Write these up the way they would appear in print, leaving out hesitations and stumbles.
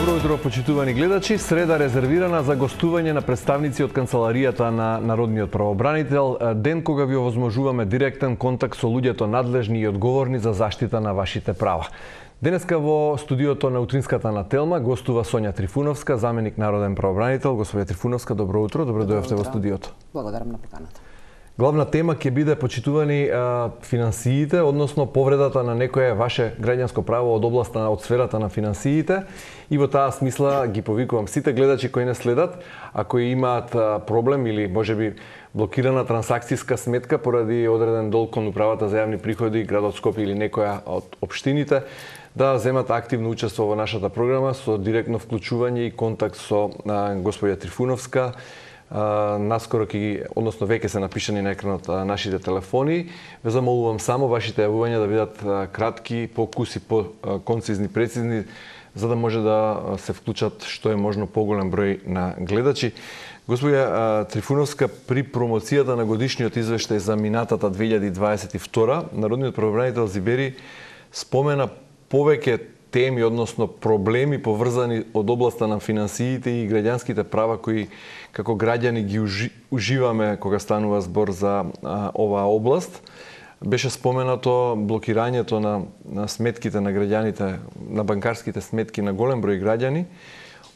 Добро утро, почитувани гледачи. Среда резервирана за гостување на представници од канцеларијата на Народниот правобранител, ден кога ви овозможуваме директен контакт со луѓето надлежни и одговорни за заштита на вашите права. Денеска во студиото на утринската на Телма гостува Сонја Трифуновска, заменик народен правобранител. Господја Трифуновска, добро утро, добро дојдовте во студиото. Благодарам на поканата. Главна тема ќе биде почитувани финансиите, односно повредата на некое ваше граѓанско право од областа од сферата на финансиите. И во таа смисла ги повикувам сите гледачи кои не следат, ако имаат проблем или можеби блокирана трансакцијска сметка поради одреден долг кон управата за јавни приходи, градот Скопје или некоја од општините, да земат активно учество во нашата програма со директно вклучување и контакт со господја Трифуновска. Наскоро односно веќе се напишани на екранот нашите телефони. Ве замолувам само вашите јавувања да бидат кратки, покуси, концизни, прецизни, за да може да се вклучат што е можно поголем број на гледачи. Господја Трифуновска, при промоцијата на годишниот извештај за минатата 2022, народниот правобранител Зибери спомена повеќе теми, односно проблеми поврзани од областа на финансиите и граѓанските права кои како граѓани ги уживаме кога станува збор за оваа област. Беше споменато блокирањето на сметките на граѓаните, на банкарските сметки на голем број граѓани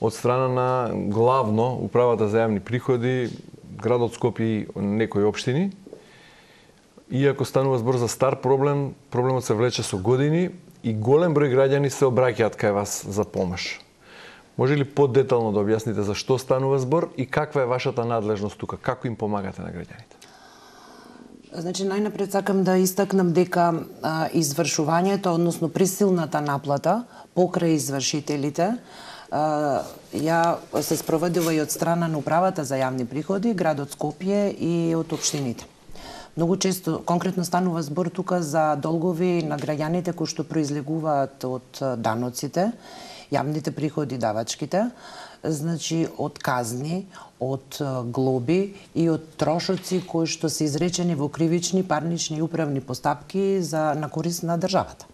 од страна на главно управата за јавни приходи, градот Скопје и некои општини. Иако станува збор за стар проблем, проблемот се влече со години и голем број граѓани се обраќаат кај вас за помош. Може ли подетално да објасните за што станува збор и каква е вашата надлежност тука? Како им помагате на граѓаните? Значи, најнапред сакам да истакнам дека извршувањето, односно присилната наплата покрај извршителите, ја се спроведува и од страна на управата за јавни приходи, градот Скопје и од општините. Многу често, конкретно станува збор тука за долгови на граѓаните кои што произлегуваат од даноците, јавните приходи, давачките, значи од казни, од глоби и од трошоци кои што се изречени во кривични, парнични и управни постапки на корист на државата.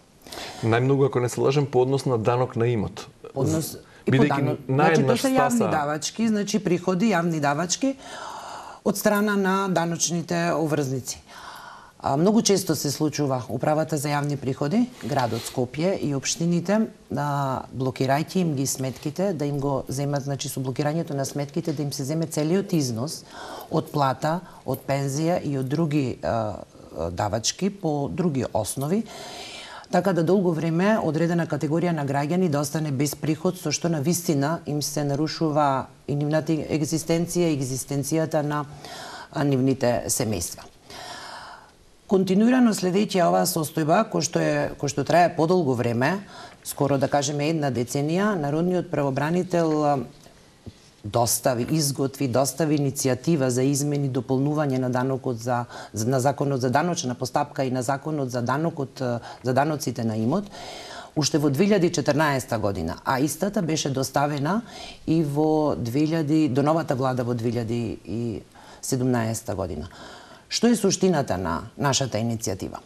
Најмногу, ако не се лажем, по однос на данок на имот. Значи, тоа се јавни давачки, значи приходи, јавни давачки од страна на даночните обврзници. Многу често се случува управата за јавни приходи, градот Скопје и општините, блокирајќи им ги сметките, да им го земат, значи со блокирањето на сметките, да им се земе целиот износ од плата, од пензија и од други давачки по други основи, така да долго време одредена категорија на граѓани да остане без приход, со што на вистина им се нарушува и нивната екзистенција и екзистенцијата на нивните семејства. Континуирано следејќи оваа состојба, кој што трае подолго време, скоро да кажеме една деценија, народниот правобранител достави иницијатива за измени и дополнување на на законот за даночна постапка и на законот за даноците на имот уште во 2014 година, а истата беше доставена и до новата влада во 2017 година. Што е суштината на нашата иницијатива?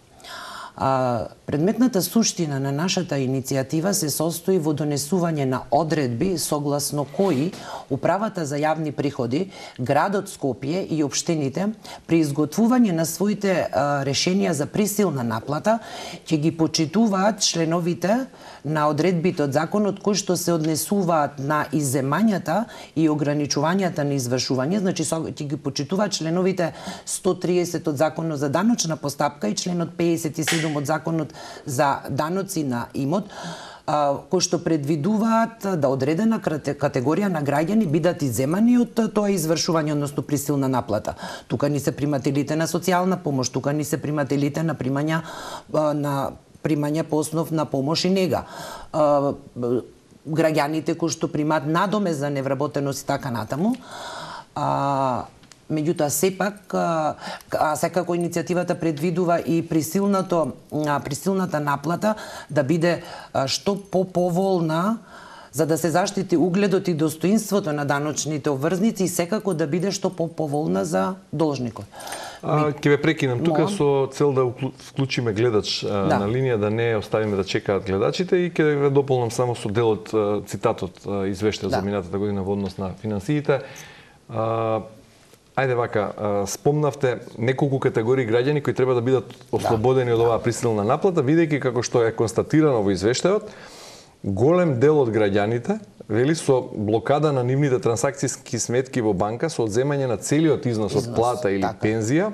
Предметната суштина на нашата иницијатива се состои во донесување на одредби согласно кои управата за јавни приходи, градот Скопје и општините при изготвување на своите решенија за присилна наплата ќе ги почитуваат членовите на одредбите од законот кои што се однесуваат на изземањата и ограничувањата на извршување, значи ќе ги почитуваат членовите 130 од законот за даночна постапка и членот 57 од законот за даноци на имот, кои што предвидуваат да одредена категорија на граѓани бидат изземани од тоа извршување, односно присилна наплата. Тука ни се примателите на социјална помош, тука ни се примателите на примања по основ на помош и нега. Граѓаните кои што примаат надоме за невработеност и така натаму. Меѓутоа, сепак, секако иницијативата предвидува и присилната наплата да биде што поповолна за да се заштити угледот и достоинството на даночните обврзници и секако да биде што поповолна за должникот. Ќе ве прекинам тука со цел да вклучиме гледач на линија, да не оставиме да чекаат гледачите, и ќе ве дополнам само со делот цитатот извештај за минатата година во однос на финансиите. Ајде вака, спомнавте неколку категории граѓани кои треба да бидат ослободени од оваа присилна наплата, бидејќи како што е констатирано во извештајот, голем дел од граѓаните, вели, со блокада на нивните трансакцијски сметки во банка, со одземање на целиот износ од плата или пензија,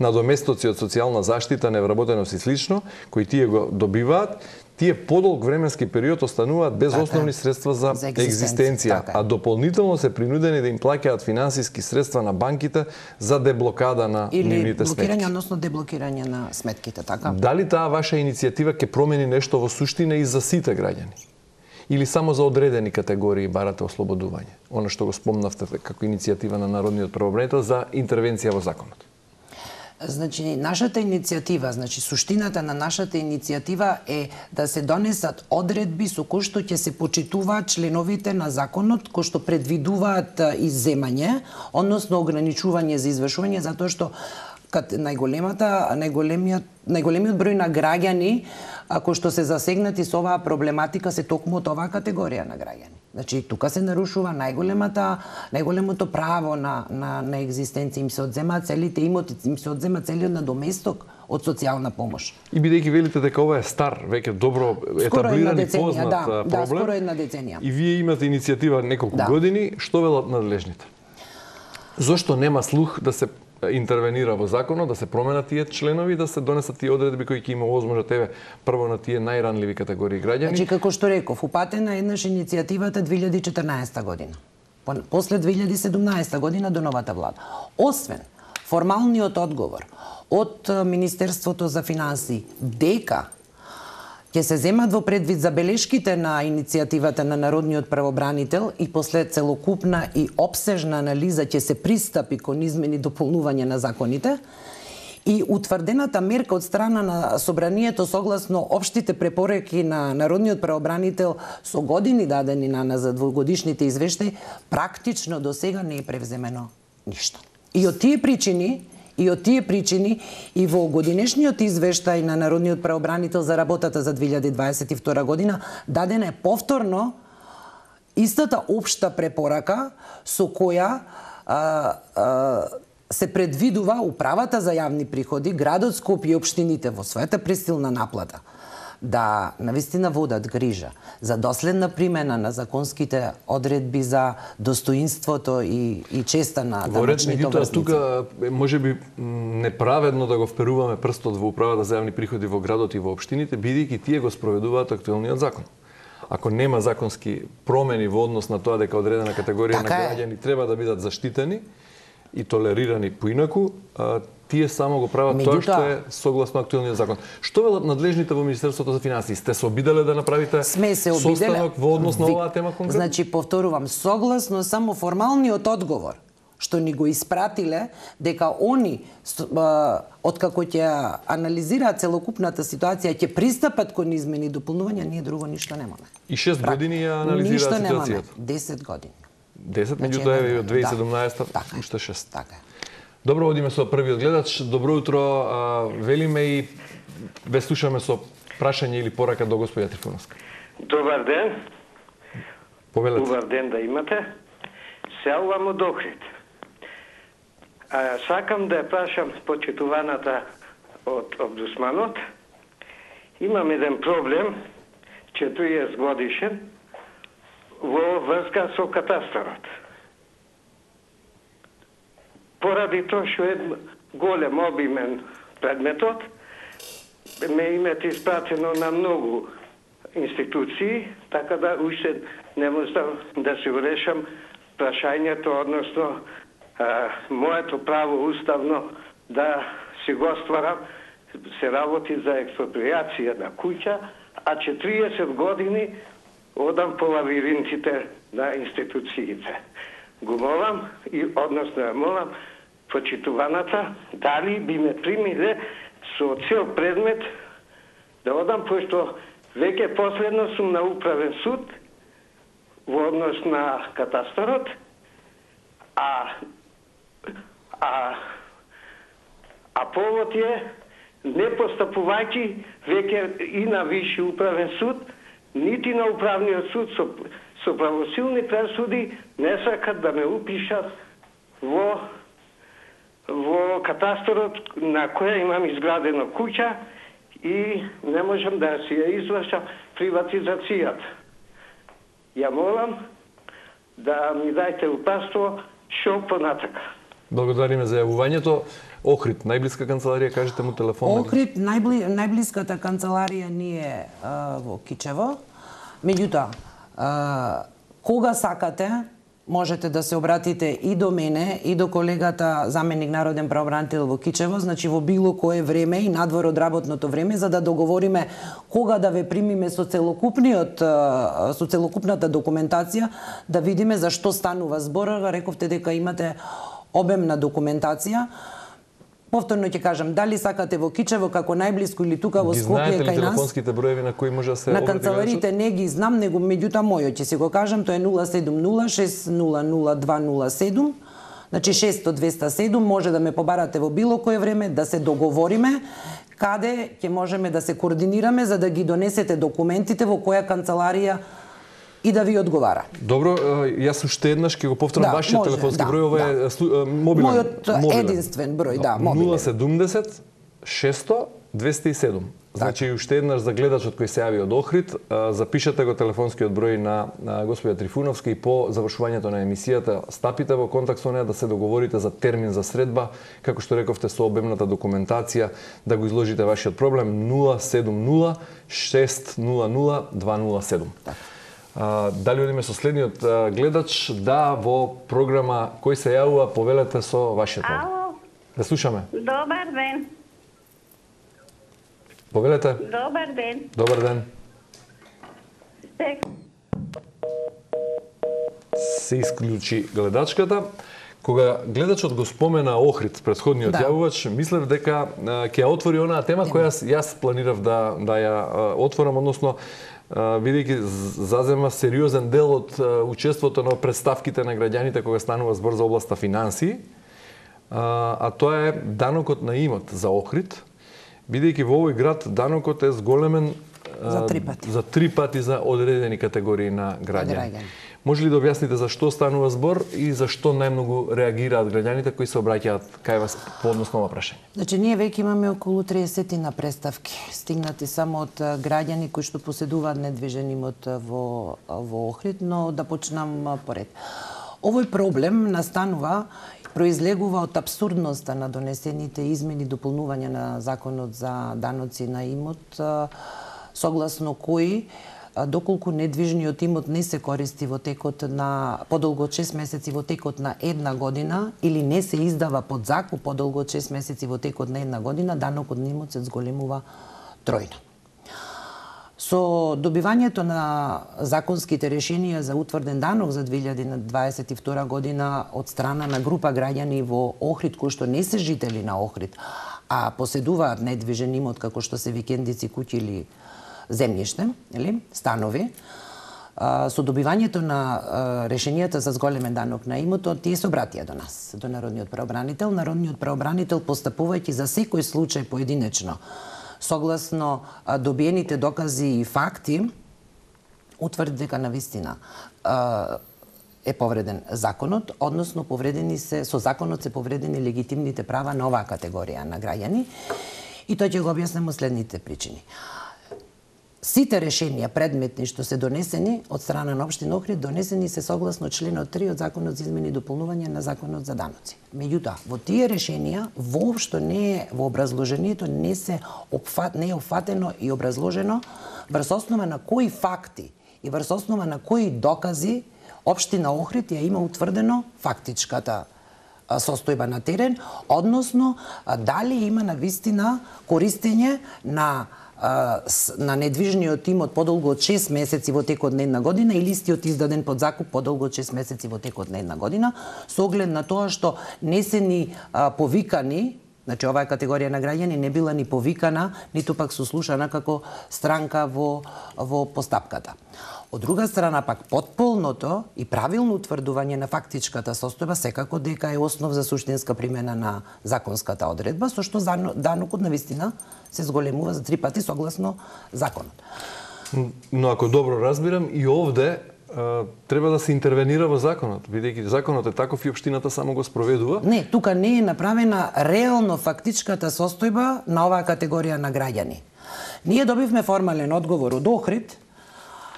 надоместоци од социјална заштита, невработеност и слично, кои тие го добиваат, тие подолг временски период остануваат без основни средства за екзистенција, а дополнително се принудени да им плаќаат финансиски средства на банките за деблокада на нивните сметки. Или блокирање, односно деблокирање на сметките, така? Дали таа ваша иницијатива ќе промени нешто во суштина и за сите граѓани? Или само за одредени категории барате ослободување? Оно што го спомнавте како иницијатива на Народниот правобранител за интервенција во законот. Значи, нашата иницијатива, суштината на нашата иницијатива е да се донесат одредби со кои што ќе се почитуваат членовите на законот, кои што предвидуваат изземање, односно ограничување за извршување, затоа што најголемиот број на граѓани кои што се засегнати со оваа проблематика се токму од оваа категорија на граѓани. Значи, тука се нарушува најголемото право на екзистенција, им се одземаат целите имоти, им се одзема целиот надоместок од социјална помош. И бидејќи велите дека ова е стар, веќе добро етаблиран и познат проблем. Да, скоро една деценија. И вие имате иницијатива неколку години, што велат надлежните? Зошто нема слух да се интервенира во законот, да се променат тие членови, да се донесат тие одредби кои ќе има возможност прво на тие најранливи категории граѓани? Значи, како што реков, упатена еднаш иницијативата 2014 година. После 2017 година до новата влада. Освен формалниот одговор од Министерството за финансии дека ќе се земат во предвид забелешките на иницијативата на Народниот правобранител и после целокупна и обсежна анализа ќе се пристапи кон измени и дополнување на законите, и утврдената мерка од страна на Собранието согласно општите препораки на Народниот правобранител со години дадени на нас за двогодишните извештаи, практично до сега не е превземено ништо. И од тие причини и во годинешниот извештај на Народниот правобранител за работата за 2022 година дадена е повторно истата општа препорака со која се предвидува управата за јавни приходи, градот Скопје и општините во својата пресилна наплата да навистина водат грижа за доследна примена на законските одредби за достоинството и честа на даночните обврзници. Тука можеби неправедно да го вперуваме прстот во управата за јавни приходи во градот и во општините, бидејќи тие го спроведуваат актуелниот закон. Ако нема законски промени во однос на тоа дека одредена категорија на граѓани треба да бидат заштитени и толерирани поинаку, тие само го прават тоа што е согласно актуелниот закон. Што велат надлежните во Министерството за финансии? Сте се обиделе да направите состанок во однос на оваа тема конкретно? Значи, повторувам, согласно само формалниот одговор што ни го испратиле, дека они, откако ќе анализираат целокупната ситуација, ќе пристапат кон измени и дополнувања, ние друго ништо немаме. И 6 години ја анализираат ситуацијата? 10 години. 10, меѓутоа е од 2017 уште 6. Така. Добро, одиме со првиот гледач. Добро утро, велиме и ве слушаме со прашање или порака до господја Трифуновска. Добар ден. Повелете. Добар ден да имате. Се јавувам од Охрид. Сакам да ја прашам почитуваната од омбудсманот. Имам еден проблем, 40 годишен, во врска со катастарот. Поради тоа што е голем обимен предметот, ме името испратено на многу институции, така да уште не можам да се решам прашањето, односно моето право уставно да си го стварам, се работи за експроприација на куќа, а 40 години одам по лавиринтите на институциите. Го молам и односно ја молам почитуваната дали би ме примиле со цел предмет да одам, пошто веќе последно сум на управен суд во однос на катастарот, а повод е не постапувајќи веќе и на Висши управен суд, нити на управниот суд со правосилни пресуди не сакат да ме упишат во катастарот на која имам изградена куќа и не можам да си ја извршам приватизацијата. Ја молам да ми дајте упатство што понатака. Благодариме за јавувањето. Охрид, најблиска канцеларија, кажете му телефон. Охрид, најблиската канцеларија ни е во Кичево. Меѓутоа, кога сакате, можете да се обратите и до мене, и до колегата заменик народен правобранител во Кичево, значи во било кое време и надвор од работното време, за да договориме кога да ве примиме со целокупната документација, да видиме за што станува збор. Рековте дека имате обемна документација. Повторно ќе кажам, дали сакате во Кичево како најблиско или тука во Скопје кај нас. Знаете ли телефонските броеви на кои може да се на канцеларите не ги знам, него меѓутоа мојот ќе си го кажам, тоа е 070-600-207, значи 600-207, може да ме побарате во било кое време, да се договориме каде ќе можеме да се координираме за да ги донесете документите во која канцеларија и да ви одговара. Добро, јас уште еднаш ќе го повторам вашиот телефонски број, ова е мобилен. Мојот единствен број, мобилен. 070 600 207. Значи уште еднаш за гледачот кој се јави од Охрид, запишете го телефонскиот број на господја Трифуновска и по завршувањето на емисијата стапите во контакт со неа да се договорите за термин за средба, како што рековте со обемната документација, да го изложите вашиот проблем 070 600 207. Дали одиме со следниот гледач? Да, во програма кој се јавува, повелете со вашиот проблем. Ало. Да слушаме. Добар ден. Повелете. Добар ден. Добар ден. Се исклучи гледачката. Кога гледачот го спомена Охрид, претходниот јавувач, мислев дека ќе ја отвори онаа тема која јас планирав да ја отворам, односно бидејќи зазема сериозен дел од учеството на представките на граѓаните кога станува збор за областа финансии, а тоа е данокот на имот за Охрид, бидејќи во овој град данокот е зголемен за 3 пати. За 3 пати за одредени категории на граѓани. Може ли да објасните за што станува збор и за што најмногу реагираат граѓаните кои се обраќаат кај вас по однос на ова прашање? Значи, ние веќе имаме околу 30 на представки, стигнати само од граѓани кои што поседуваат недвижен имот во Охрид, но да почнам поред. Овој проблем настанува, произлегува од апсурдноста на донесените измени и дополнувања на Законот за даноци на имот, согласно кои доколку недвижниот имот не се користи во текот на подолго од 6 месеци во текот на една година или не се издава под закуп подолго од 6 месеци во текот на една година, данокот на имот се зголемува тројно. Со добивањето на законските решенија за утврден данок за 2022 година од страна на група граѓани во Охрид кои што не се жители на Охрид, а поседуваат недвижен имот како што се викендици, куќи или земјиште, станови, со добивањето на решенијата за зголемен данок на имотот, тие се обратија до нас, до Народниот правобранител. Народниот правобранител, постапувајќи за секој случај поединечно, согласно добиените докази и факти, утврди дека навистина е повреден законот, односно со законот се повредени легитимните права на оваа категорија на граѓани, и тоа ќе го објаснам од следните причини. Сите решенија предметни што се донесени од страна на општина Охрид донесени се согласно членот 3 од Законот за измени и дополнување на Законот за даноци. Меѓутоа, во тие решенија воопшто не е во образложението не е опфатено и образложено врз основа на кои факти и врз основа на кои докази општина Охрид ја има утврдено фактичката состојба на терен, односно дали има навистина користење на недвижниот имот подолго од 6 месеци во текот на една година или истиот издаден под закуп подолго од 6 месеци во текот на една година, со оглед на тоа што не се ни повикани, значи оваа категорија на граѓани не била ни повикана, ниту пак сослушана како странка во постапката. Од друга страна пак потполното и правилно утврдување на фактичката состојба секако дека е основ за суштинска примена на законската одредба, со што данокот навистина се зголемува за 3 пати согласно законот. Но ако добро разбирам, и овде треба да се интервенира во законот, бидејќи законот е таков и општината само го спроведува. Не, тука не е направена реално фактичката состојба на оваа категорија на граѓани. Ние добивме формален одговор од Охрид,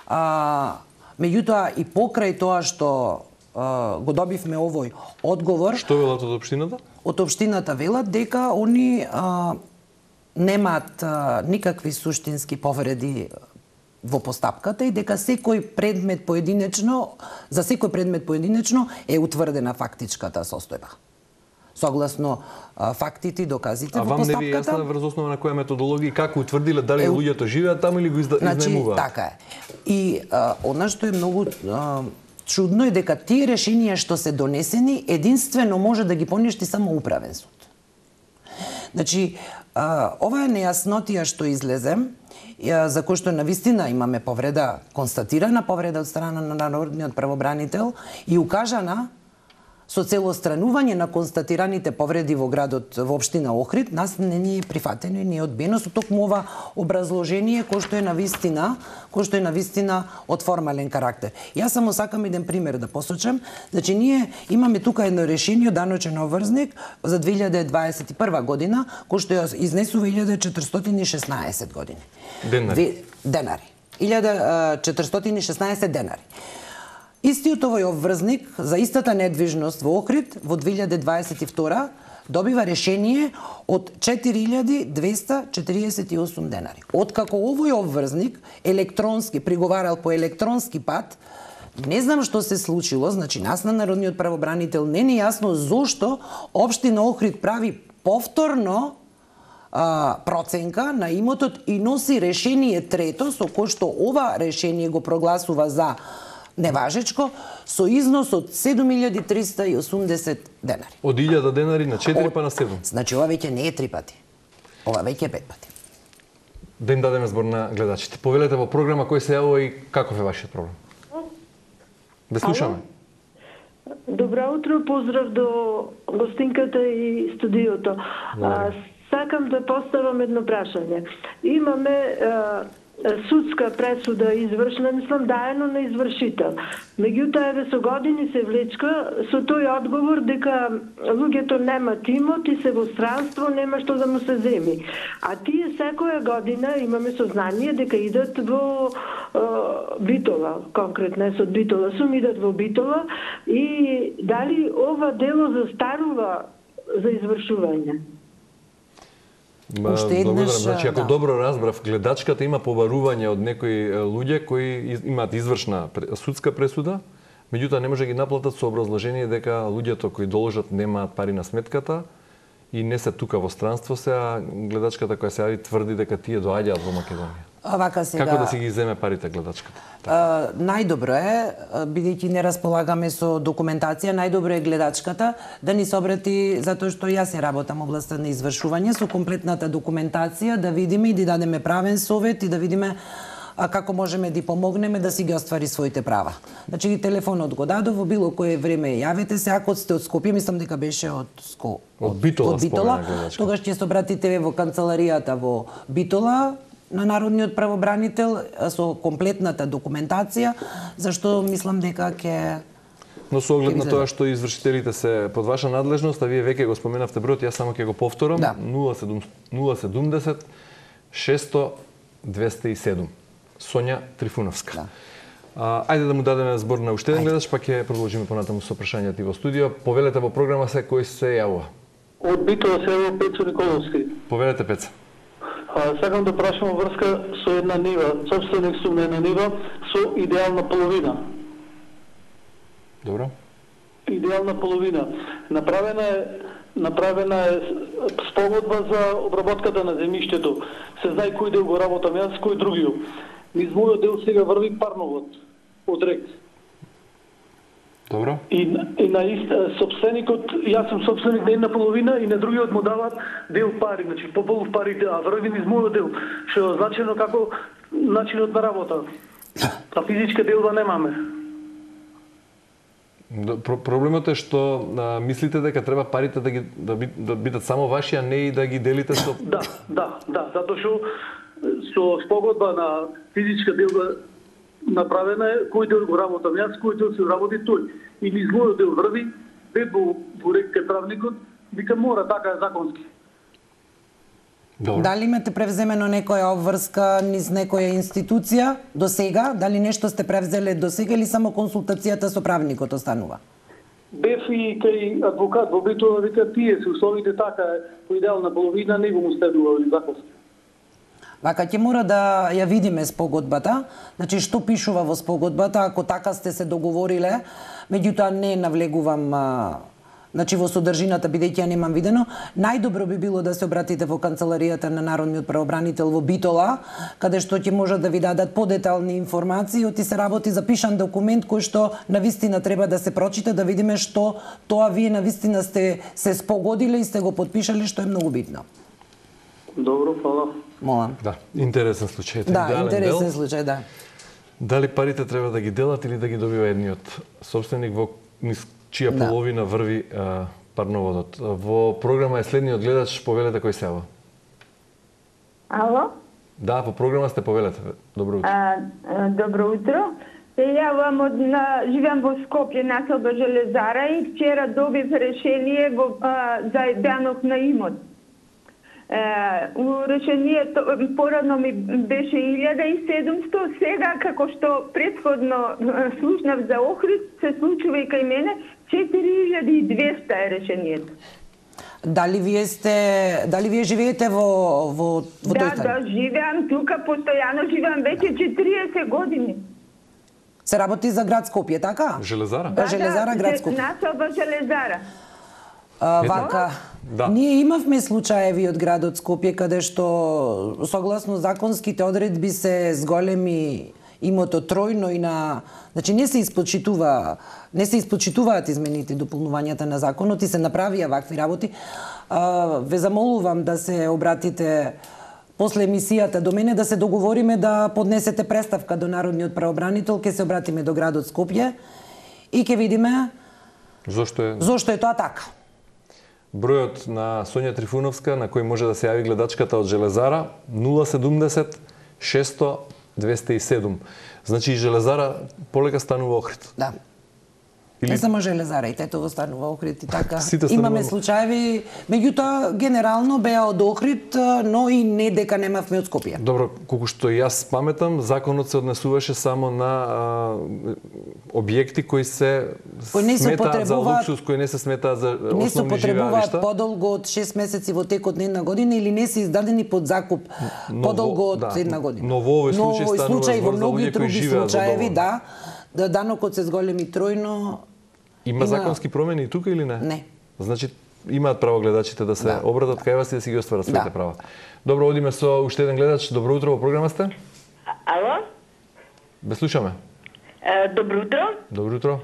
меѓутоа и покрај тоа што го добивме овој одговор... Што велат од општината? Од општината велат дека они немаат никакви суштински повреди во постапката и дека секој предмет поединечно, за секој предмет поединечно е утврдена фактичката состојба. Согласно фактите и доказите во постапката. А вам не ви е јасно врз основа на која методологија како утврдиле дали луѓето живеат таму или го изнајмуваат? Значи, така е. И она што е многу чудно е дека тие решенија што се донесени единствено може да ги поништи само управен суд. Значи, ова е нејаснотија што излезе, за кој што навистина имаме повреда, констатирана повреда од страна на народниот правобранител и укажана со цел отстранување на констатираните повреди во градот, во општина Охрид, нас не ни е прифатено и не е одбиено со токму ова образложение кој што е навистина од формален карактер. Јас само сакам еден пример да посочам. Значи ние имаме тука едно решение даночен обврзник за 2021 година кој што ја изнесува 1416 години. Денари. 1416 денари. Истиот овој обврзник за истата недвижност во Охрид во 2022 добива решение од 4248 денари. Откако овој обврзник електронски приговарал по електронски пат, не знам што се случило, значи нас на народниот правобранител не е јасно зошто општина Охрид прави повторно проценка на имотот и носи решение трето со кое што ова решение го прогласува за неважечко, со износ од 7380 денари. Од 1000 денари на 4 па на 7. Значи, ова веќе не е 3 пати. Ова веќе е 5 пати. Да им дадеме збор на гледачите. Повелете во програма кој се јавува и каков е вашиот проблем. Да слушаме. Добро утро, поздрав до гостинката и студиото. Сакам да поставам едно прашање. Имаме судска пресуда извршна, мислам, даено на извршител. Меѓутоа, еве со години се влечка со тој одговор дека луѓето немаат имот и се во странство, нема што да му се земи. А тие секоја година имаме сознание дека идат во Битола, конкретно од Битола, идат во Битола и дали ова дело застарува за извршување? Благодарам. Значи, ако добро разбрав, гледачката има побарување од некои луѓе кои имаат извршна судска пресуда, меѓутоа не може да ги наплатат со образложение дека луѓето кои доложат немаат пари на сметката и не се тука во странство се, а гледачката која се јави тврди дека тие доаѓаат во Македонија. Како да си ги земе парите гледачката? Најдобро е, бидејќи не располагаме со документација, најдобро е гледачката да ни се обрати, затоа што јас се работам областта на извршување, со комплетната документација, да видиме и да дадеме правен совет и да видиме како можеме да помогнеме да си ги оствари своите права. Значи, телефонот го дадов, во било кое време јавете се, ако сте од Скопје, мислам дека беше од Битола, тогаш ќе се обратите во канцеларијата во Битола, на народниот правобранител со комплетната документација, зашто мислам дека ќе... Но со оглед на тоа што извршителите се под ваша надлежност, а вие веќе го споменавте бројот, јас само ќе го повторам, 070 600 207. Сонја Трифуновска. Ајде да му дадеме збор на уште еден гледач, па ќе продолжиме понатаму со прашањата и во студио. Повелете во програма се кој се јавува. Од Битола се јавува Пецо Николовски. Повелете, Пеца. Сакам да прашам во врска со една нива, собственик сум на една нива со идеална половина. Добро. Идеална половина. Направена е спогодба за обработката на земјиштето. Се знае кој дел го работам јас, кој другиот. Низ мојот дел сега врви парновод од рек. Добро. И на собственикот, јас сум собственик на една половина и на другиот му дават дел пари, значи пополов пари, а врви низ мојот дел, што е означено како начинот на работа. А физичка делба немаме. Проблемот е што мислите дека треба парите да бидат само ваши, а не и да ги делите со... Да, затоа што со спогодба на физичка делба направена е, кој дел го работам јас, кој дел се работи тој. И низ мојот дел врви, бед во ректе правникот, вика мора, така е законски. Добро. Дали имате превземено некоја обврска низ некоја институција до сега? Дали нешто сте превзеле до сега или само консултацијата со правникот останува? Бев и кај адвокат во Битола, вика тие се условите така по идеална половина, него му стебува законски. Вака ќе мора да ја видиме спогодбата, значи што пишува во спогодбата, ако така сте се договориле, меѓутоа не навлегувам значи во содржината, бидејќи ја немам видено, најдобро би било да се обратите во канцеларијата на Народниот правобранител во Битола, каде што ќе можат да ви дадат подетални информации, оти се работи запишан документ кој што навистина треба да се прочита, да видиме што тоа вие навистина сте се спогодиле и сте го потпишале, што е многу битно. Добро, фала. Молам. Да, интересен случај. Да, интересен случај, да. Дали парите треба да ги делат или да ги добива едниот собственик во чија половина врви парноводот. Во програма е следниот гледач, повелете кој се јава. Ало? Да, во програма сте, повелете. Добро утро. Добро утро. Се јавам живеам во Скопје, населба Железара и вчера добив решение за данок на имот. Решението порано ми беше 1700, сега како што претходно слушнав за Охрид, се случува и кај мене 4200 е решението. Дали вие живеете во тој стан? Да, живеам тука, постојано живеам веќе 40 години. Се работи за град Скопје, така? Железара? Железара, град Скопје. Населба Железара. Вака, ние имавме случаеви од градот Скопје каде што согласно законските одредби се зголеми имотот тројно и на, значи не се испочитуваат измените и дополнувањата на законот и се направија вакви работи. Ве замолувам да се обратите после емисијата до мене, да се договориме да поднесете преставка до Народниот правобранител, ќе се обратиме до градот Скопје и ќе видиме зошто е тоа така. Бројот на Сонја Трифуновска, на кој може да се јави гледачката од Железара, 070 600 207. Значи и Железара полека станува Охрид. Да. Не само Железара, и Тетово станува Охрид и така. Имаме случаеви, меѓутоа генерално беа од Охрид, но и не дека немавме од Скопје. Добро, колку што јас паметам, законот се однесуваше само на објекти кои се сметаат за луксус, кои не се сметаат за основни живеалишта. Не се потребуваат подолго од 6 месеци во текот на една година или не се издадени под закуп подолго од една година. Но во овој случај станува збор за луѓе кои живеат во дом. Да, данокот се зголеми тројно. Има законски промени и тука или не? Не. Значи имаат право гледачите да се обратат кај вас и да си ги остварат своите права. Добро, одиме со уште еден гледач. Добро утро, во програма сте? Ало? Бе слушаме. Добро утро. Добро утро.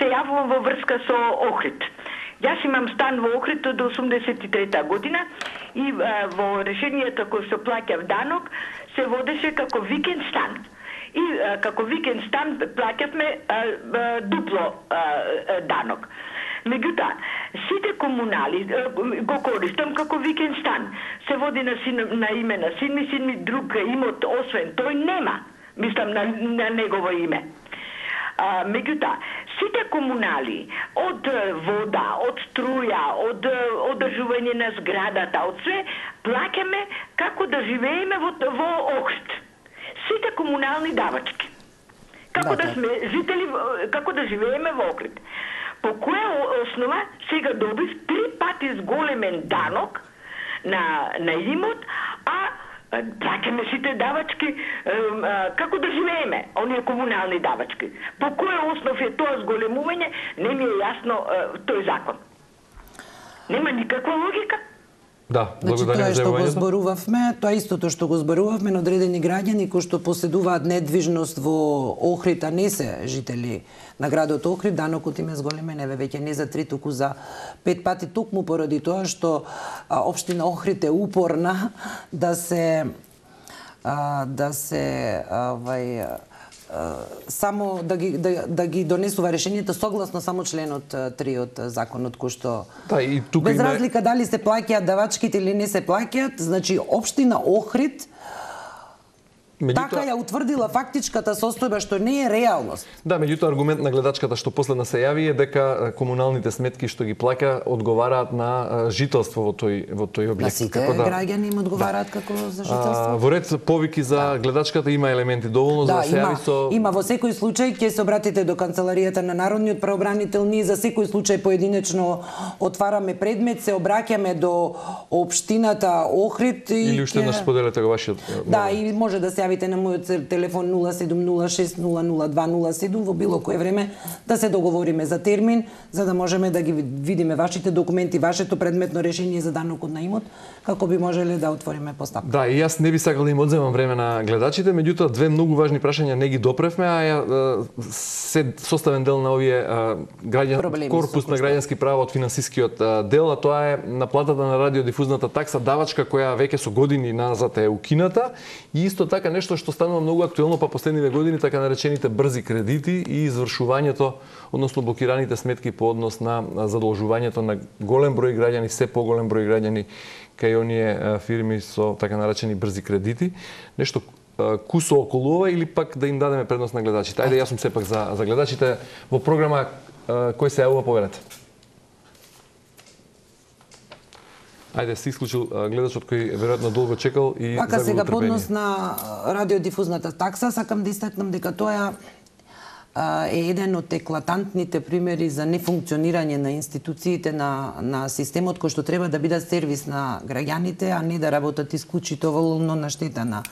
Се јавувам во врска со Охрид. Јас имам стан во Охрид од 83-та година и во решението кој се плаќав данок се водеше како викенд стан. И како викенд стан плаќавме дупло данок. Меѓутоа, сите комунали го користам како викенд стан. Се води на име на син ми друг имот, освен тој нема. Мислам на негово име. Меѓутоа, сите комунали, од вода, од струја, од одржување на зградата, од све, плаќаме како да живееме во Охрид. Сите комунални давачки. Како да сме жители, како да живееме во Охрид. По која основа сега добив 3 пати зголемен данок на имот, а плаќаме сите давачки како да живееме, оние комунални давачки. По која основ е тоа зголемување, не ми е јасно тој закон. Нема никаква логика. Да, благодарам за јавувањето. Тоа што го зборувавме, тоа истото што го зборувавме на одредени граѓани кои што поседуваат недвижност во Охрид, а не се жители на градот Охрид, данокот им е зголемен, еве веќе не за 3, туку за 5 пати, токму поради тоа што општина Охрид е упорна да се само да ги донесува решението согласно само членот 3 од законот, кој што и тука без разлика дали се плаќаат давачките или не се плаќаат, значи општина Охрид така ја утврдила фактичката состојба, што не е реалност. Да, меѓутоа аргумент на гледачката што последна се јави е дека комуналните сметки што ги плаќа одговараат на жителство во тој објект. На сите граѓани им одговараат како за жителство. Во ред повики за гледачката има елементи доволно за да се јави со... Има во секој случај ќе се обратите до канцеларијата на Народниот правобранител, ние за секој случај поединечно отвараме предмет, се обраќаме до општината Охрид или уште еднаш споделете го вашиот. Да, и може да се јавите на мојот телефон 0706000207 во било кое време да се договориме за термин, за да можеме да ги видиме вашите документи, вашето предметно решение за данокот на имот, како би можеле да отвориме постапка. Да, и јас не би сакал да им одземам време на гледачите, меѓутоа две многу важни прашања не ги допревме, се составен дел на овие корпус на граѓански права од финансискиот дел, а тоа е наплатата на радиодифузната такса давачка која веќе со години назад е укината, и исто така нешто што станува многу актуелно па последниве години, така наречените брзи кредити и извршувањето, односно блокираните сметки по однос на задолжувањето на голем број граѓани, се поголем број граѓани кај оние фирми со така наречени брзи кредити. Нешто кусо околу ова или пак да им дадеме предност на гледачите? Ајде, јас сум сепак за гледачите. Во програма кој се јавува, повелете. Ајде, се исклучил гледачот кој веројатно долго чекал и така сега поднос на радиодифузната такса, сакам да истакнам дека тоа е еден од еклатантните примери за нефункционирање на институциите на системот кој што треба да бидат сервис на граѓаните, а не да работат исклучително на штета на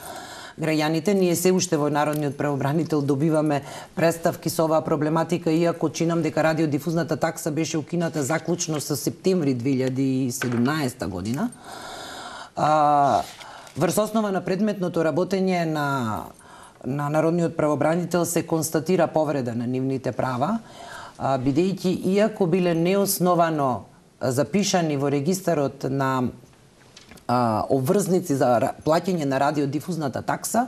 граѓаните. Ние се уште во Народниот правобранител добиваме представки со оваа проблематика, иако чинам дека радиодифузната такса беше укината заклучно со септември 2017 година. Врз основа на предметното работење на Народниот правобранител се констатира повреда на нивните права, бидејќи иако биле неосновано запишани во регистарот на обврзници за плаќање на радиодифузната такса,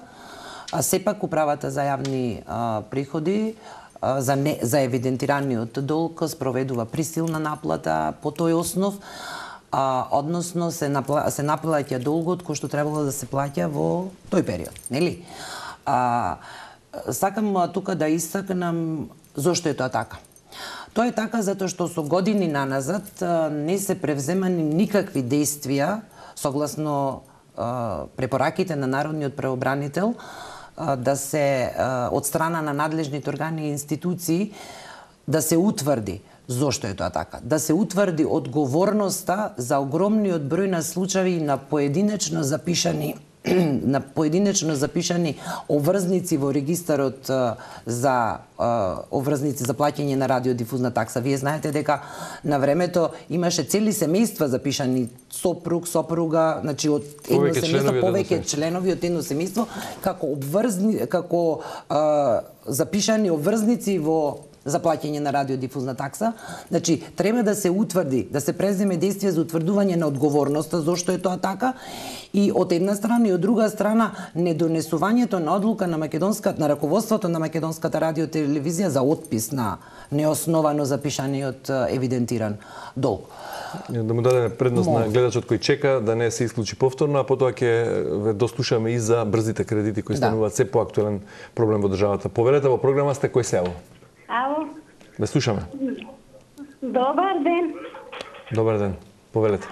сепак управата за јавни приходи за евидентираниот долг спроведува присилна наплата по тој основ, односно се наплаќа долгот кој што требало да се плаќа во тој период, нели? Сакам тука да истакнам зошто е тоа така. Тоа е така затоа што со години наназад не се превземани никакви действија согласно препораките на Народниот правобранител да се од страна на надлежните органи и институции да се утврди зошто е тоа така, да се утврди одговорноста за огромниот број на случаи на поединечно запишани обврзници во регистарот за обврзници за плаќање на радиодифузна такса. Вие знаете дека на времето имаше цели семејства запишани, сопруг, сопруга, значи од едно семејство, повеќе членови од едно семејство, како запишани обврзници во за плаќање на радиодифузна такса. Значи, треба да се утврди, да се преземе действие за утврдување на одговорноста зошто е тоа така, и од една страна и од друга страна недонесувањето на одлука на раководството на Македонската радиотелевизија за отпис на неосновано запишаниот евидентиран долг. Да му дадеме предност на гледачот кој чека, да не се исклучи повторно, а потоа ќе ве дослушаме и за брзите кредити кои стануваат се поактуелен проблем во државата. Повелете, во програма сте, кој се јавува? Ало. Ве слушаме. Добар ден. Добар ден. Повелете.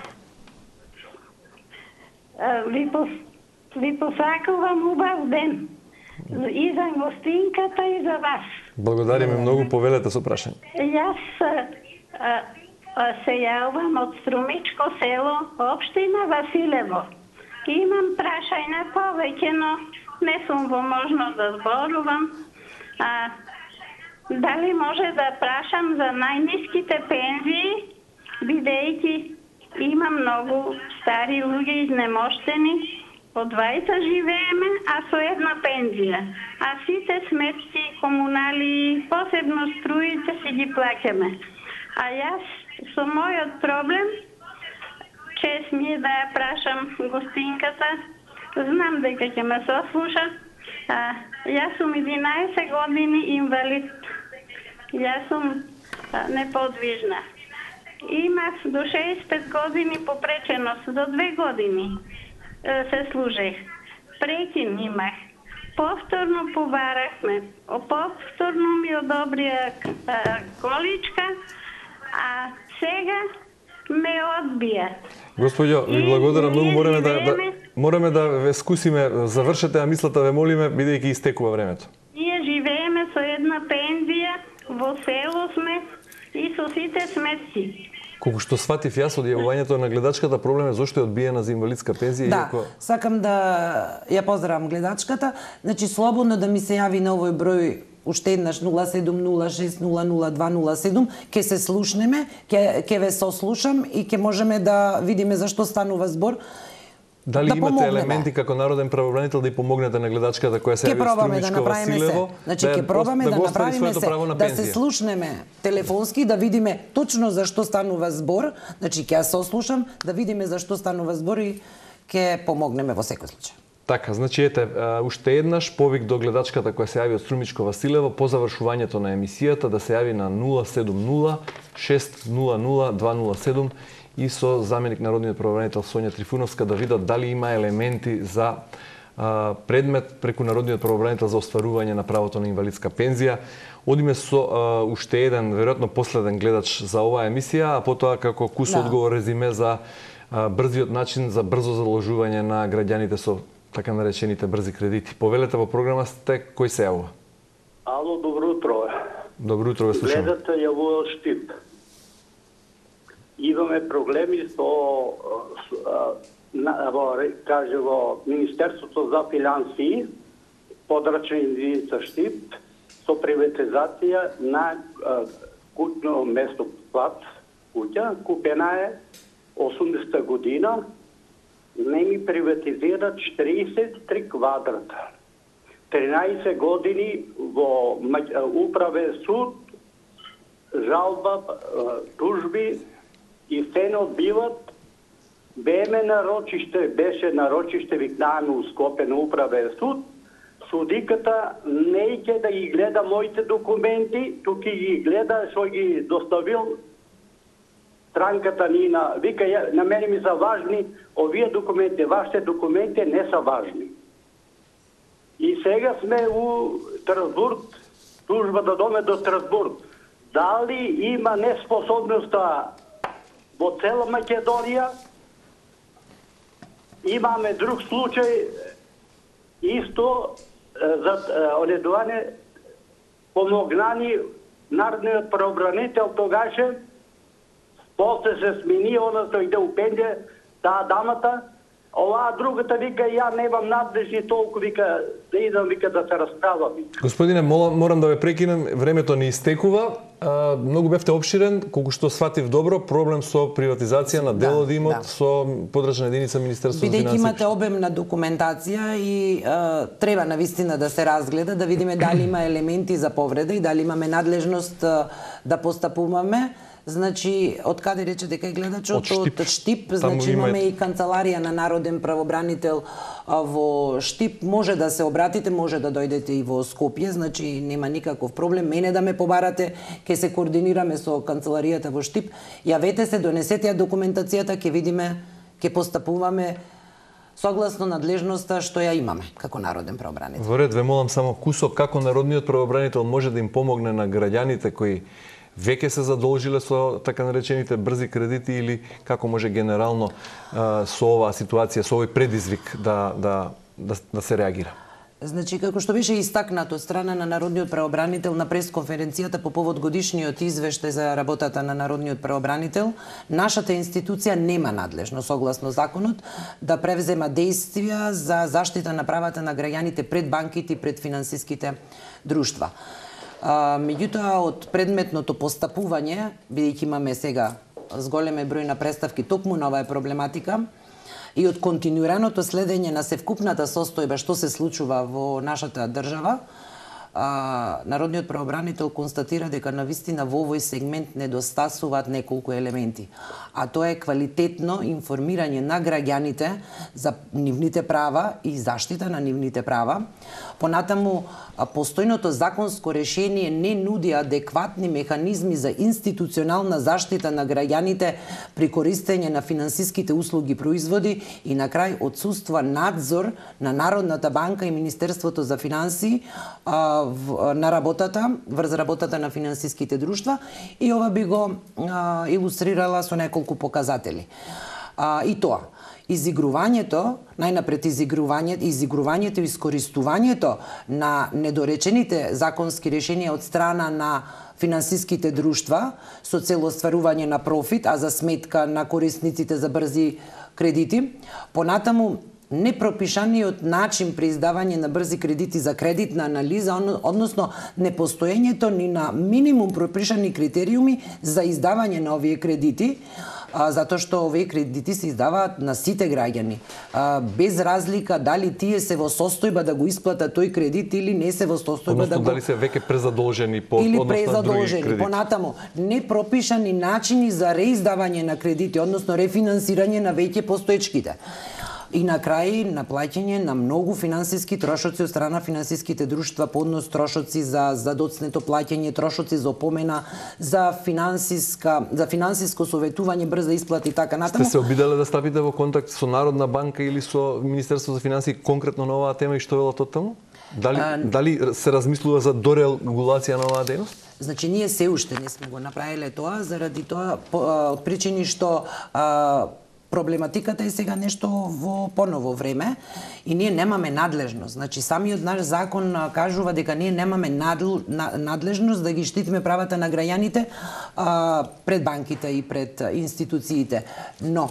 Ви посакувам убав ден. И за гостинката и за вас. Благодариме многу, повелете со прашање. Јас се јавам од Струмичко село, општина Василево. Имам прашање повеќе, но не сум во можност да зборувам. Дали може да прашам за најниските пензии, бидејќи има многу стари луѓе изнемоштени, од двајца живееме, а со една пензија. А сите сметки, комунали, посебно струите си ги плаќаме. А јас со мојот проблем, чест ми е да ја прашам гостинката, знам дека ќе ме сослуша, Јас сум 11 години инвалид. Јас сум неподвижна. Имав до 65 години попреченост, до 2 години се служех. Прекин имах. Повторно побарахме. Повторно ми одобрија количка, а сега ме одбија. Господјо, ви благодарам многу, мораме да ве скусиме, завршете, а мислата ве молиме, бидејќи истекува времето. Ние живееме со една пензија, во село сме и со сите сметки. Колку што сватив јас од јавувањето на гледачката, проблем е зошто е одбиена за инвалидска пензија. Да, сакам да ја поздравам гледачката. Значи, слободно да ми се јави на овој број уште еднаш 070600207, ќе се слушнеме, ќе ве сослушам и ќе можеме да видиме зашто станува збор. Дали да имате елементи како народен правобранител да ја помогнете на гледачката која се јави од Струмичко Василево? Значи, ќе пробаме да направиме се, да се слушнеме телефонски, да видиме точно зашто станува збор. Значи, ќе ја сослушам, да видиме зашто станува збор и ќе помогнеме во секој случај. Така, значи ете, уште еднаш повик до гледачката која се јави од Струмичко Василево по завршувањето на емисијата да се јави на 070 600 207 и со заменик народниот правобранител Сонја Трифуновска да видат дали има елементи за предмет преку народниот правобранител за остварување на правото на инвалидска пензија. Одиме со уште еден, веројатно последен гледач за оваа емисија, а потоа како кус одговор резиме за брзиот начин за брзо заложување на граѓаните со така наречените брзи кредити. Повелете во програма сте, кој се јавува? Ало, добро утро. Добро утро, ве слушам. Гледате јавува Штип. Имаме проблеми со во Министерството за финансии, подрачна единица Штип, со приватизација на куќно место плат, куќа, купена е 80-та година, не ми приватизират 43 квадрата. 13 години во управен суд, жалба, тужби и се не одбиват. Беше нарочиште, викнаваме у Скопје на управен суд. Судиката не ќе да ги гледа моите документи, тук ги гледа што ги доставил странката Нина. Вика, на мене ми са важни овие документи, вашите документи не са важни. И сега сме у Страсбург, тужба да доме до Страсбург. Дали има неспособноста во цела Македонија? Имаме друг случај, исто за оледување помогнани народниот правобранител тогаше, после се смени, она тој иде у пензија, таа дамата, оваа другата вика, ја немам надлежни толку, вика, да идам, вика, да се расправам. Господине, морам да ве прекинем, времето ни истекува. Многу бевте обширен, колку што сватив добро, проблем со приватизација на дел од имот со подрачна единица Министерство за финансии. Бидејќи имате обемна документација и треба навистина да се разгледа, да видиме дали има елементи за повреда и дали имаме надлежност да постапуваме. Значи, од каде рече дека е гледачот? Од Штип. Значи, имаме и канцеларија на народен правобранител во Штип. Може да се обратите, може да дојдете и во Скопје, значи нема никаков проблем. Мене да ме побарате, ќе се координираме со канцеларијата во Штип. Јавете се, донесете ја документацијата, ќе видиме, ќе постапуваме согласно надлежноста што ја имаме како народен правобранител. Во ред, ве молам само кусок како народниот правобранител може да им помогне на граѓаните кои веќе се задолжиле со така наречените брзи кредити или како може генерално со оваа ситуација, со овој предизвик да се реагира? Значи, како што беше истакнато од страна на народниот правобранител на пресконференцијата по повод годишниот извештај за работата на народниот правобранител, нашата институција нема надлежно, согласно законот, да превзема действија за заштита на правата на граѓаните пред банките и пред финансиските друштва. Меѓутоа, од предметното постапување, бидејќи имаме сега зголеме број на представки токму на оваа проблематика, и од континуираното следење на севкупната состојба што се случува во нашата држава, народниот правобранител констатира дека навистина во овој сегмент недостасуваат неколку елементи, а тоа е квалитетно информирање на граѓаните за нивните права и заштита на нивните права. Понатаму, постојното законско решение не нуди адекватни механизми за институционална заштита на граѓаните при користење на финансиските услуги и производи и на крај отсуства надзор на Народната банка и Министерството за финансии на работата, врз работата на финансиските друштва, и ова би го илустрирала со неколку показатели. И тоа, изигрувањето, најнапред изигрувањето и искористувањето на недоречените законски решенија од страна на финансиските друштва со цел остварување на профит, а за сметка на корисниците за брзи кредити. Понатаму, непропишаниот начин при издавање на брзи кредити за кредитна анализа, односно непостоењето ни на минимум пропишани критериуми за издавање на овие кредити, затоа што овие кредити се издаваат на сите граѓани, без разлика дали тие се во состојба да го исплатат тој кредит или не се во состојба да го... дали се веќе презадолжени по или однос на други кредити. Понатаму, непропишани начини за реиздавање на кредити, односно рефинансирање на веќе постоечките. И на крај, наплаќање на многу финансиски трошоци од страна финансиските друштва, по однос трошоци за доцнето плаќање, трошоци за опомена, за финансиско советување, брза исплата и така натаму. Сте се обиделе да стапите во контакт со Народна банка или со Министерство за финансии конкретно на оваа тема и што велат од таму? Дали се размислува за дорегулација на оваа дејност? Значи, ние се уште не сме го направиле тоа, заради тоа причини што проблематиката е сега нешто во поново време и ние немаме надлежност. Значи, самиот наш закон кажува дека ние немаме надлежност да ги штитиме правата на граѓаните пред банките и пред институциите. Но,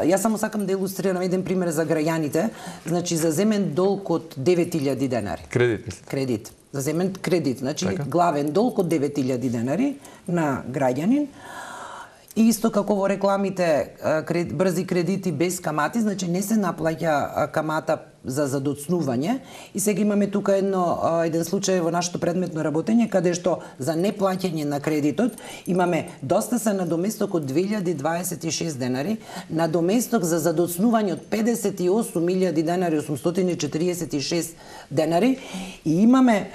јас само сакам да илустрирам еден пример за граѓаните. Значи, за земен долг од 9.000 денари. Кредит. За земен кредит. Значи, главен долг од 9.000 денари на граѓанин. И исто како во рекламите брзи кредити без камати, значи не се наплаќа камата за задоцнување. И сега имаме тука еден случај во нашето предметно работење, каде што за неплаќање на кредитот имаме доста се надоместок од 2026 денари, надоместок за задоцнување од 58.000 денари, 846 денари, и имаме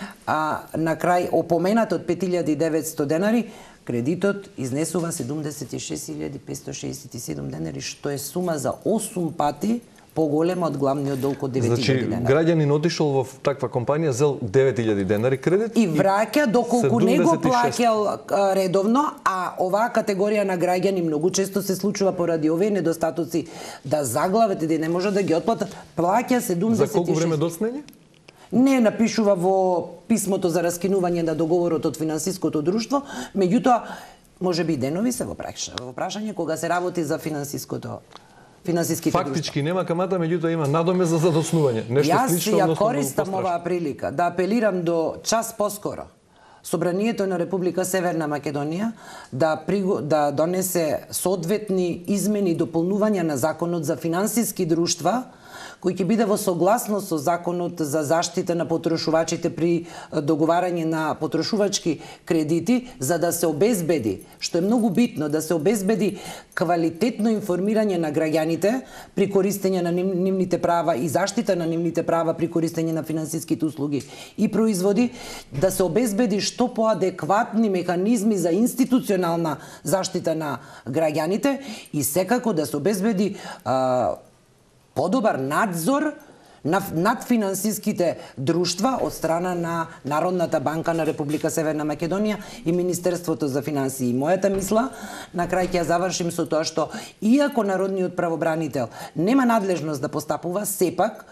на крај опоменат од 5.900 денари, кредитот изнесува 76.567 денари, што е сума за 8 пати поголема од главниот долг од 9.000 денари. Граѓанин отишол во таква компанија, зел 9.000 денари кредит и враќа доколку не го плаќал редовно, а оваа категорија на граѓани многу често се случува поради овие недостатоци да заглават и да не може да ги отплатат, плаќа 76. За колку време доцнење? Не напишува во писмото за раскинување на договорот од финансиското друштво, меѓутоа можеби денови се во прашање кога се работи за финансиските друштва. Фактички нема камата, меѓутоа има надомест за задоцнување. Нешто слично, јас ја користам оваа прилика да апелирам до час поскоро Собранието на Република Северна Македонија да донесе соодветни измени и дополнувања на законот за финансиски друштва, кој ќе биде во согласност со законот за заштита на потрошувачите при договарање на потрошувачки кредити, за да се обезбеди, што е многу битно, да се обезбеди квалитетно информирање на граѓаните при користење на нивните права и заштита на нивните права при користење на финансиските услуги и производи, да се обезбеди што поадекватни механизми за институционална заштита на граѓаните и секако да се обезбеди подобар надзор над финансиските друштва од страна на Народната банка на Република Северна Македонија и Министерството за финансии. Мојата мисла, на крај ќе ја завршим со тоа што иако народниот правобранител нема надлежност да постапува, сепак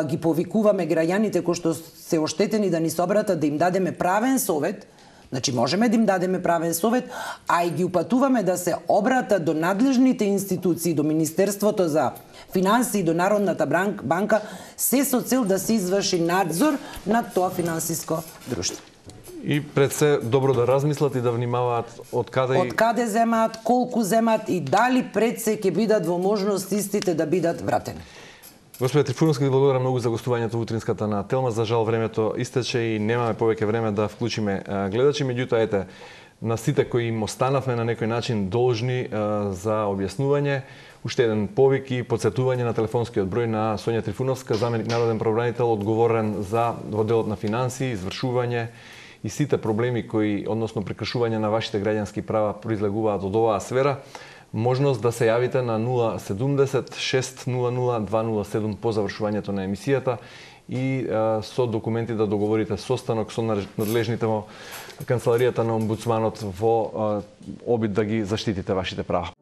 ги повикуваме граѓаните кои што се оштетени да ни се обратат, да им дадеме правен совет. Значи, можеме да им дадеме правен совет, а и ги упатуваме да се обратат до надлежните институции, до Министерството за финансии, до Народната банка, се со цел да се изврши надзор над тоа финансиско друштво. И пред се добро да размислат и да внимаваат од каде земаат, колку земаат и дали пред се ќе бидат во можност истите да бидат вратени. Господе Трифуновски, ви благодарам многу за гостувањето утринската на Телма. За жал времето истече и немаме повеќе време да вклучиме гледачи, меѓутоа ете на сите кои им останавме на некој начин должни за објаснување, уште еден повик и потсетување на телефонскиот број на Сонја Трифуновска, заменик народен правобранител, одговорен за делот на финансии, извршување и сите проблеми кои, односно прекршување на вашите граѓански права произлегуваат од оваа сфера. Можност да се јавите на 070 600 207 по завршувањето на емисијата и со документи да договорите состанок со надлежните во канцеларијата на омбудсманот во обид да ги заштитите вашите права.